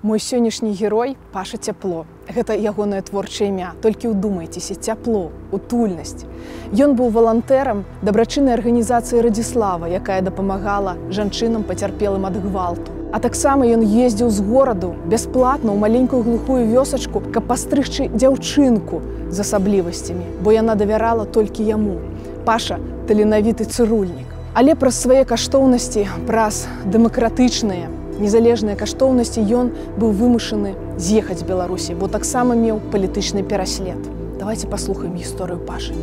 Мой сённяшні герой Паша Цяпло. Гэта ягонае творчае імя. Толькі ўдумайцеся, цяпло, утульнасць. Ён быў валантэрам дабрачыннай арганізацыі Радзіслава, якая дапамагала жанчынам пацярпелым ад гвалту. А таксама ён ездзіў з гораду бясплатна ў маленькую глухую вёсачку, каб пастрыгчы дзяўчынку з асаблівасцямі, бо яна давярала толькі яму. Паша таленавіты цырульнік. Але праз свае каштоўнасці, праз дэмакратычныя, незалежныя каштоўнасці ён быў вымушаны з'ехаць з Беларусі, бо таксама меў палітычны пераслед. Давайте паслухаем гісторыю Пашы.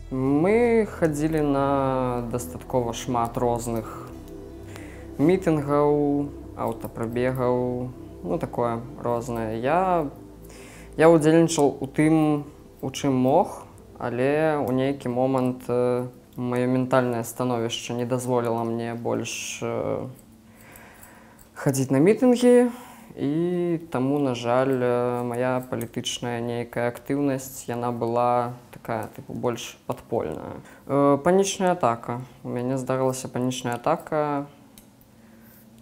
Мы хадзілі на дастаткова шмат розных мітынгаў, аўтапрабегаў, ну такое рознае. Я удзельнічаў у тым, у чым мог, але ў нейкі момант маё ментальнае становішча не дазволіла мне больш хадзіць на мітынгі, і таму, на жаль, мая палітычная нейкая актыўнасць, яна была такая, тыпу, больш падпольная. Панічная атака. У мяне здарылася панічная атака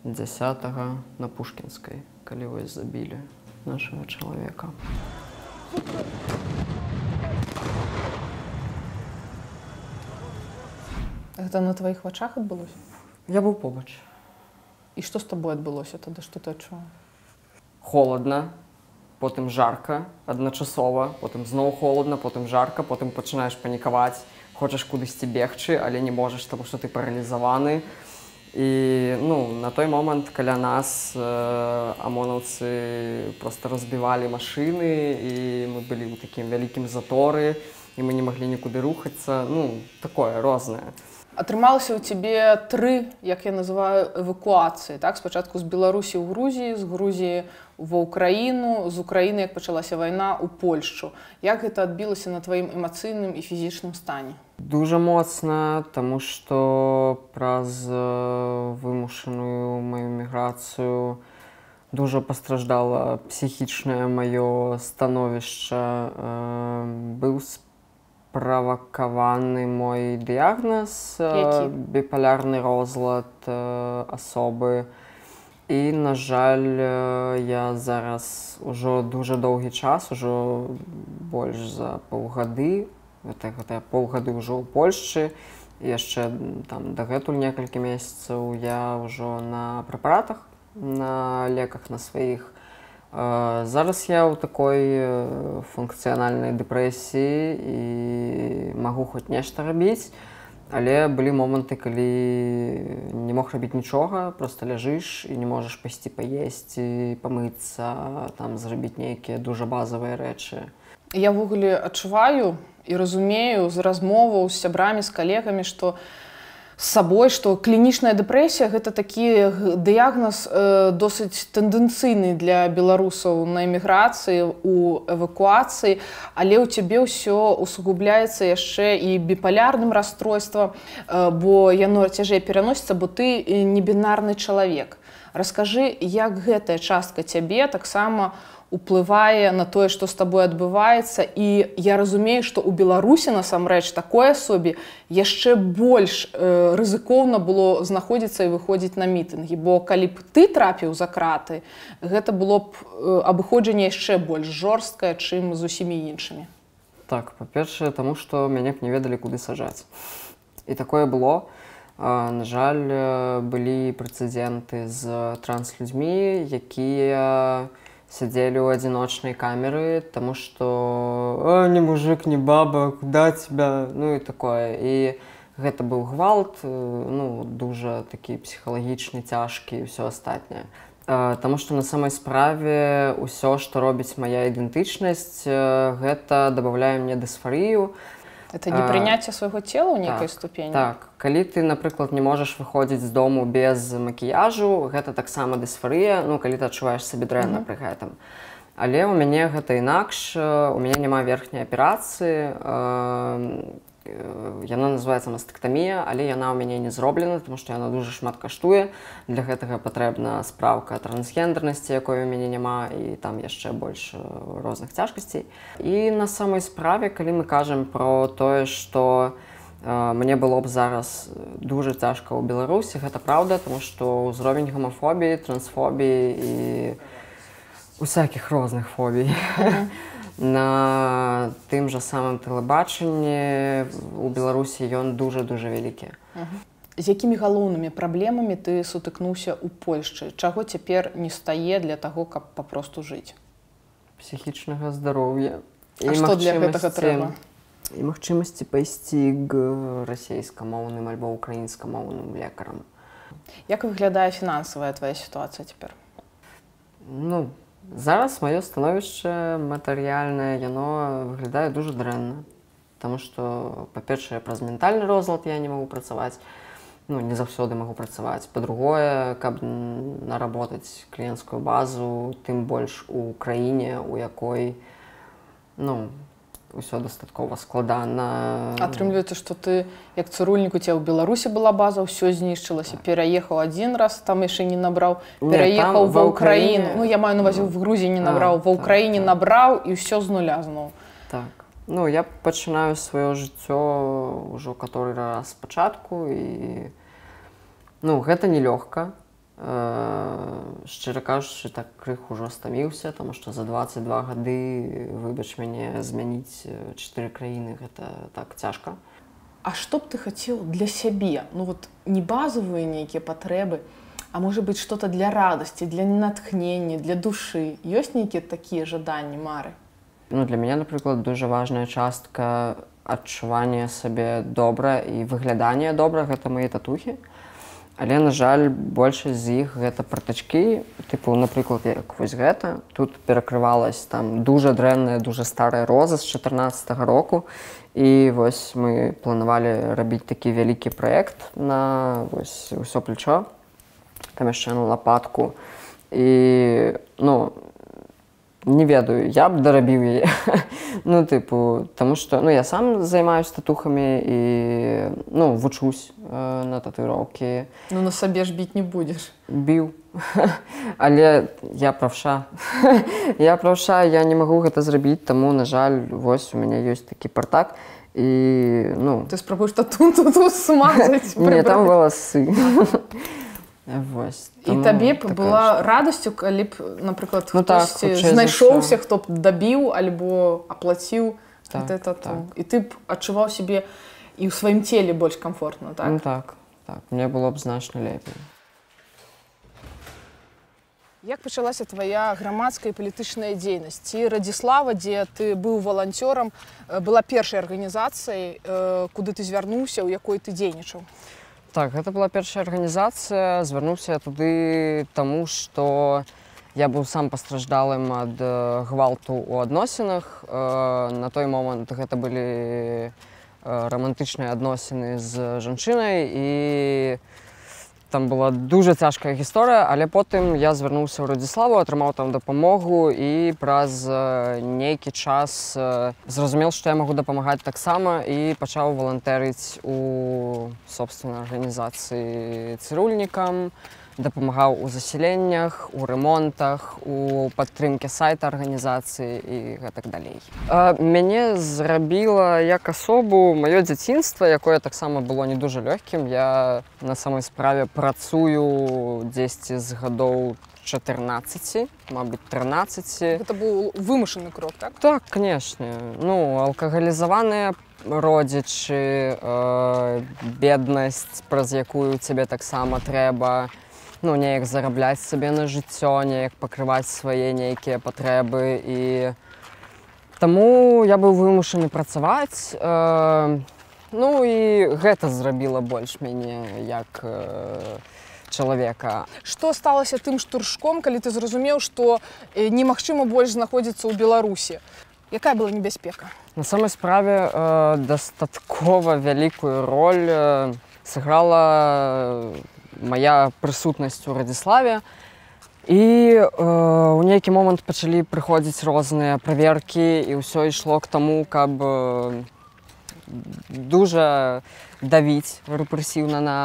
10-го на Пушкінскай, калі вось забілі нашага чалавека. Гэта на тваіх вачах адбылося? Я быў побач. І што з табой адбылося тады? Што ты адчуваў? Холадна, потым жарка, адначасова, потым зноў холадна, потым жарка, потым пачынаеш панікаваць, хочаш кудысьці бегчы, але не можаш, таму што ты паралізаваны. І на той момант каля нас амонаўцы проста разбівалі машыны, і мы былі ў такім вялікім заторы, і мы не маглі нікуды рухацца, такое рознае. Атрымалася ў цябе 3, як я называю, эвакуацыі. Так? Спачатку з Беларусі ў Грузіі, з Грузіі ва Ўкраіну, з Украіны, як пачалася вайна, у Польшчу. Як гэта адбілася на тваім эмацыйным і фізічным стане? Дужа моцна, таму што праз вымушаную маю міграцыю дужа пастраждала псіхічнае маё становішча. Быў правакаваны мой дыягназ, біполярны розлад асобы. І, на жаль, я зараз ужо дужа доўгі час, ужо больш за паўгады, гэта паўгады ўжо ў Польшчы, і яшчэ дагэтуль некалькі месяцаў я ўжо на прэпаратах, на леках на сваіх. Зараз я ў такой функцыянальнай дэпрэсіі і магу хоць нешта рабіць, але былі моманты, калі не мог рабіць нічога, проста ляжыш і не можаш пайсці паесці, памыцца, зрабіць нейкія дужа базавыя рэчы. Я ўвогуле адчуваю і разумею з размоваў з сябрамі, з калегамі, што з сабой, што клінічная дэпрэсія – гэта такі дыягназ досыць тэндэнцыйны для беларусаў на эміграцыі, у эвакуацыі, але ў цябе ўсё усугубляецца яшчэ і біполярным расстройствам, бо яно цяжэй пераносіцца, бо ты небінарны чалавек. Раскажы, як гэтая частка цябе таксама уплывае на тое, што з табой адбываецца, і я разумею, што ў Беларусі насамрэч такой асобе яшчэ больш рызыкоўна было знаходзіцца і выходзіць на мітынгі, бо калі б ты трапіў за краты, гэта было б абыходжанне яшчэ больш жорсткае, чым з усімі іншымі. Так, па-першае, таму што мяне б не ведалі, куды саджаць. І такое было. На жаль, былі прэцэдэнты з транслюдзьмі, якія сядзелі ў адзіночнай камеры, таму што «не мужик, не баба, куда тебя?» і такое. І гэта быў гвалт, дужа такі псіхалагічны, цяжкі і ўсё астатняе. Таму што на самай справе ўсё, што робіць мая ідэнтычнасць, гэта дабаўляе мне дысфарыю. Это непрыняцце свайго цела ў нейкай ступені? Так. Калі ты, напрыклад, не можаш выходзіць з дому без макіяжу, гэта таксама дысфарыя, калі ты адчуваеш сабе дрэнна пры гэтым. Але ў мяне гэта інакш, у мяне няма верхняй аперацыі, яна называецца мастэктамія, але яна ў мяне не зроблена, таму што яна дужа шмат каштуе. Для гэтага патрэбна спраўка трансгендернасці, якой у мяне няма, і там яшчэ больш розных цяжкасцей. І на самай справе, калі мы кажам пра тое, што Мне было б зараз дуже цяжка ў Беларусі, гэта праўда, тому што ўзровень гомафобіі, трансфобіі і усякіх розных фобій на тым жа самым тэлебачанні у Беларусі ён дуже-дуже вялікі. З якімі галоўнымі праблемамі ты сутыкнуўся ў Польшчы? Чаго цяпер не стае для таго, каб папросту жыць? Псіхічнага здароўя. А што для гэтага трэба? І магчымасці пайсці к расейскамоўным альбо украінскамоўным лекарам. Як выглядае фінансавая твая сітуацыя цяпер? Ну, зараз маё становішча матэрыяльнае, яно выглядае дуже дрэнна. Таму што, па-першае, праз ментальны розлад я не магу працаваць, ну, не заўсёды магу працаваць. Па-другое, каб наработаць кліенцкую базу, тым больш у краіне, у якой, ну, усё дастаткова складана. Атрымліваецца, што ты, як цырульнік, у цябе ў Беларусі была база, ўсё знішчылася, пераехаў адзін раз, там яшчэ не набраў, пераехаў ва ўкраіну. Ну, я маю на ўвазе, в Грузіі не набраў, ва ўкраіне набраў і ўсё з нуля зноў. Так. Ну, я пачынаю сваё жыццё ўжо каторы раз спачатку і, ну, гэта нелёгка. Шчыра кажучы, так крыху ўжо стаміўся, таму што за 22 гады, выбач мяне, змяніць 4 краіны, гэта так цяжка. А што б ты хацеў для сябе? Ну вот не базавыя нейкія патрэбы, а можа быць што-то для радасці, для натхнення, для душы. Ёсць нейкія такія жаданні, мары? Ну, для мяне, напрыклад, дуже важная частка адчування сабе добра і выглядання добра, гэта мае татухі. Але, на жаль, большасць з іх гэта пратачкі, тыпу, напрыклад, як вось гэта. Тут перакрывалась там дуже дрэнная, дуже старая роза з 14-го року. І вось мы планавалі рабіць такі вялікі праект на вось усё плечо. Там яшчэ на лапатку. І, ну, не ведаю, я б дарабіў яе. Ну, тыпу, таму што, ну, я сам займаюся татухамі і, ну, вучусь на татуіроўкі. Ну, на сабе ж біць не будзеш. Біў. Але я правша. Я правша, я не магу гэта зрабіць, таму, на жаль, вось у мяне ёсць такі партак. І, ну... Ты спрабуеш тату смазаць? Не, там валасы. Вось. І табе б была радасцю, калі б, напрыклад, хтосьці знайшоўся, хто б дабіў альбо аплаціў гэтае тату. І ты б адчуваў сябе і ў сваім целе больш камфортна, так? Ну так, так. Мне было б значна лепей. Як пачалася твая грамадская і палітычная дзейнасць? Ці Радзіслава, дзе ты быў валанцёрам, была першай арганізацыяй, куды ты звярнуўся, у якой ты дзейнічаў? Так, гэта была першая арганізацыя. Звярнуўся я туды таму, што я быў сам пастраждалым ад гвалту ў адносінах. На той момант гэта былі рамантычныя адносіны з жанчынай, і там была дуже цяжкая гісторыя, але потым я звярнуўся ў Радзіславу, атрымаў там дапамогу і праз нейкі час зразумеў, што я магу дапамагаць таксама і пачаў валантэрыць у собственнай арганізацыі цырульнікам, дапамагаў у засяленнях, у ремонтах, у падтрымке сайта арганізацыі і гэтак далей. Мяне зрабіла як асобу маё дзяцінства, якое таксама было не дуже лёгкім. Я на самой справе працую дзесьці з гадоў 14, мабыць, 13. Гэта быў вымушаны крок, так? Так, канешне. Ну, алкагалізаваныя родзічы, беднасць, праз якую цябе таксама трэба, ну, неяк зарабляць сабе на жыццё, неяк пакрываць свае нейкія патрэбы. І таму я быў вымушаны працаваць. Ну, і гэта зрабіла больш мяне як чалавека. Што сталася тым штуршком, калі ты зразумеў, што немагчыма больш знаходзіцца ў Беларусі? Якая была небяспека? На самой справе дастаткова вялікую роль сыграла мая прысутнасць у Радзіславе. І ў нейкі момант пачалі прыходзіць розныя праверкі, і ўсё ішло к таму, каб дуже давіць рэпрэсіўна на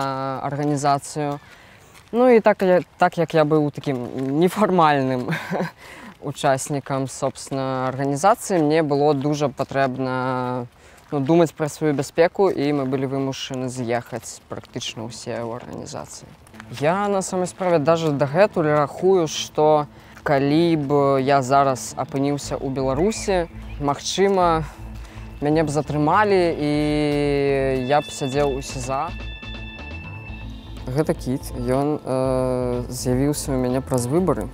арганізацыю. Ну і так як я быў такім нефармальным учаснікам, собственно, арганізацыі, мне было дуже патрэбна думаць пра сваю бяспеку, і мы былі вымушаны з'ехаць практычна ўсе ў арганізацыі. Я на самай справе даже дагэтуль рахую, што калі б я зараз апыніўся ў Беларусі, магчыма, мяне б затрымалі і я б сядзеў у СІЗА. Гэта кіт, ён з'явіўся ў мяне праз выбары.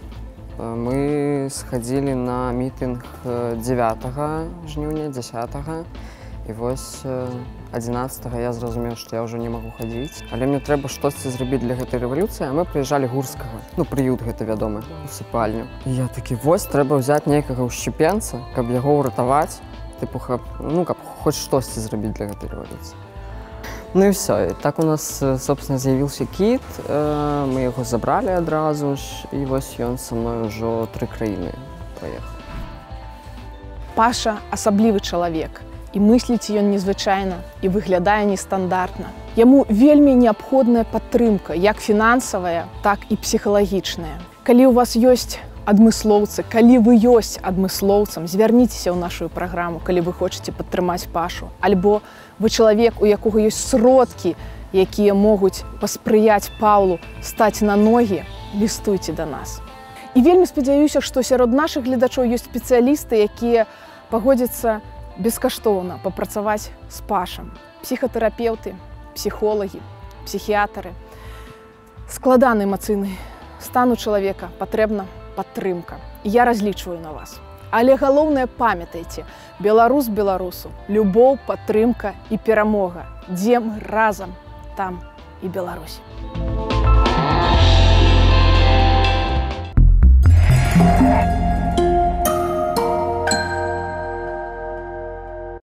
Мы схадзілі на мітынг 9 жніўня, 10-го, і вось 11-го я зразумеў, што я ўжо не магу хадзіць. Але мне трэба штосьці зрабіць для гэтай рэвалюцыі, а мы прыязджалі Гурскага. Ну, прыют гэта вядомы, усыпальню. І я такі, вось, трэба ўзяць нейкага ўшчыпенца, каб яго ўратаваць, тыпу, каб хоць штосьці зрабіць для гэтай рэвалюцыі. Ну і все. І так у нас, собственно, з'явіўся кіт, мы яго забралі адразу ж, і вось ён са мной ўжо 3 краіны праехаў. Паша асаблівы чалавек, і мысліць ён незвычайна, і выглядае нестандартна. Яму вельмі неабходная падтрымка, як фінансавая, так і псіхалагічная. Калі ў вас ёсць адмыслоўцы, калі вы ёсць адмыслоўцам, звярніцеся ў нашу праграму, калі вы хочаце падтрымаць Пашу. Альбо вы чалавек, у якога ёсць сродкі, якія могуць паспрыяць Паўлу стаць на ногі, лістуйце да нас. І вельмі спадзяюся, што сярод нашых гледачоў ёсць спецыялісты, якія пагодзяцца бескаштоўна папрацаваць з Пашам. Псіхатэрапеўты, псіхолагі, псіхіятары. Складаны эмацыйны стан у чалавека, патрэбна падтрымка. Я разлічваю на вас. Але галоўнае, памятайце, беларус беларусу, любоў, падтрымка і перамога. Дзе мы разам, там і Беларусь.